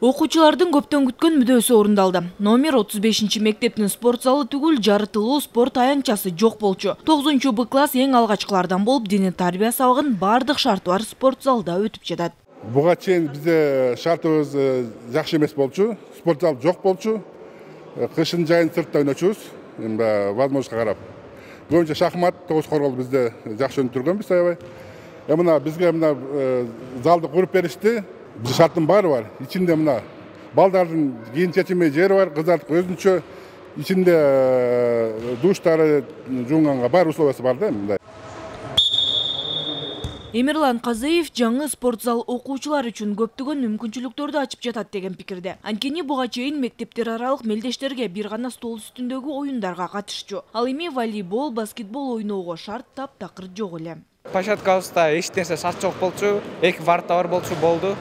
Окуучулардын көптөн күткөн мүдөөсү орундалды. Номер 35 мектептин спорт залы түгүл жарытылуу спорт аянтчасы жок болчу. 9-Б класс эң алгачкылардан болуп, диний тарбия сабагын бардык шарты бар спорт залда өтүп жатат. Буга чейин бизде шартыбыз жакшы эмес болчу. Спорт зал жок болчу. Кышын жайын сыртта ойночубуз. Возможностька карап. Көбүнчө шахмат, тогуз коргол бизде жакшы өнүп турганбыз аябай. Мына бизге залды куруп беришти. Биз шарттын баары бар. Ичинде мына балдардын кийин чечилмей жери бар, кыздардыкы өзүнчө. Ичинде душтары жуунганга бар условиясы бар да мындай. Эмирлан Казыев жаңы спорт зал окуучулар үчүн көптөгөн мүмкүнчүлүктөрдү ачып жатат деген пикирде. Анткени буга чейин мектептер аралык мелдештерге бир гана стол үстүндөгү оюндарга катышчу. Ал эми волейбол, баскетбол ойноого шарт таптакыр жок эле. Площадкабызда эч нерсе шарт жок болчу, эки варта бар болчу болду.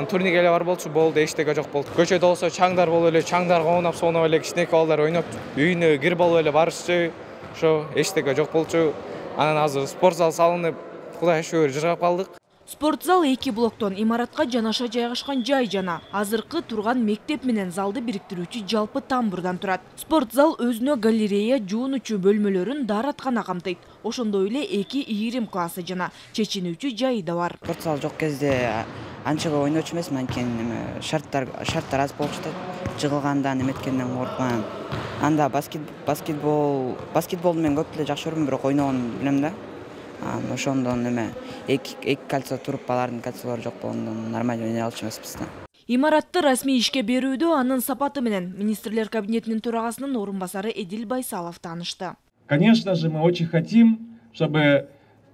Турник эле бар болчу болду, эчтеке жок болду. Көчөдө болсо чаңдар болуп эле, чаңдарга оонап, сонуп эле кичинекей балдар ойноп, үйүнө кирип алып эле барышчу. Ошо эчтеке жок болчу. Анан азыр спорт зал салынып, Кудайга шүгүр жыргап калдык. Спорт зал 2 блоктон имаратка жанаша жайгашкан жай жана азыркы турган мектеп менен залды бириктирүүчү жалпы тамбурдан турат. Спорт зал өзүнө галерея, жуунуучу бөлмөлөрүн, даараткана камтыйт. Ошондой эле 2 ийрим классы жана чечинүүчү жайы да бар. Спорт зал жок кезде анчага ойночу эмесмин, анткени шарттар аз болуп жатат. Жыгылгандан эметкенден коркпойм. Анда баскетболду мен көп эле жакшы көрөм, бирок ойногон билем да. Ошондон эки кольцо туруп, алардын кольцолору жок болгондон нормально ойной алчу эмеспиз да. Имаратты расмий ишке берүүдө анын сапаты менен министрлер кабинетинин төрагасынын орун басары Эдил Байсалов таанышты. Конечно же, мы очень хотим, чтобы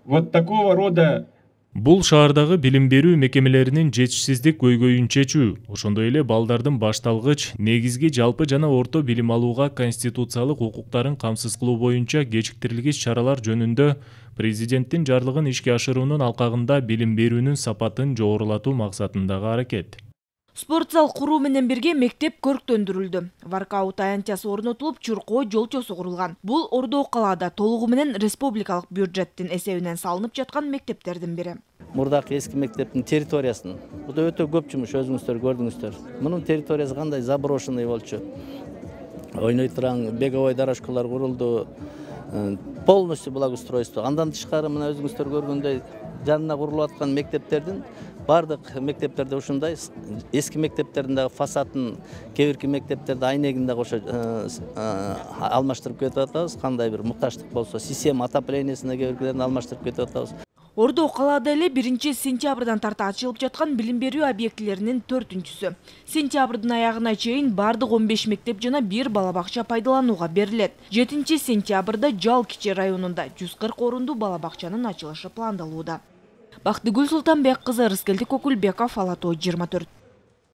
вот такого рода Бул шаардагы билим берүү мекемелеринин жетишсиздик көйгөйүн чечүү, ошондой эле балдардын башталгыч, негизги, жалпы жана орто билим алууга конституциялык укуктарын камсыз кылуу боюнча кечиктирилгич чаралар жөнүндө президенттин жарлыгын ишке ашыруунун алкагында билим берүүнүн сапатын жогорулатуу максатындагы аракет. Спорт зал куруу менен бирге мектеп көрктөндүрүлдү. Воркаут аянтчасы орнотулуп, чуркоо жолчосу курулган. Бул Ордо калаада толугу менен республикалык бюджеттин эсебинен салынып жаткан мектептердин бири. Мурдакы эски мектептин территориясын, бул өтө көп жумуш, өзүңүздөр көрдүңүздөр. Мунун территориясы кандай заброшенный болчу. Ойной турган беговой дорожкалар курулду. Полностью благоустройство. Андан тышкары мына өзүңүздөр көргөндөй жанына курулуп аткан мектептердин бардык мектептерде ушундай, эски мектептердин дагы фасадын, кээ бирки мектептерде айнегин да кошо алмаштырып кетип атабыз. Кандай бир мукташтык болсо, система отоплениесин кээ биркилерин алмаштырып кетип атабыз. Ордо калаада эле 1-сентябрдан тарта ачылып жаткан билим берүү объектилеринин 4-сү. Сентябрдын аягына чейин бардык 15 мектеп жана 1 балабакча пайдаланууга берилет. 7-сентябрда Жал кичи районунда 140 орундуу балабакчанын ачылышы пландалууда. Бактыгүл Султанбек кызы, Рыскелди Кокулбеков, Ала Тоо 24.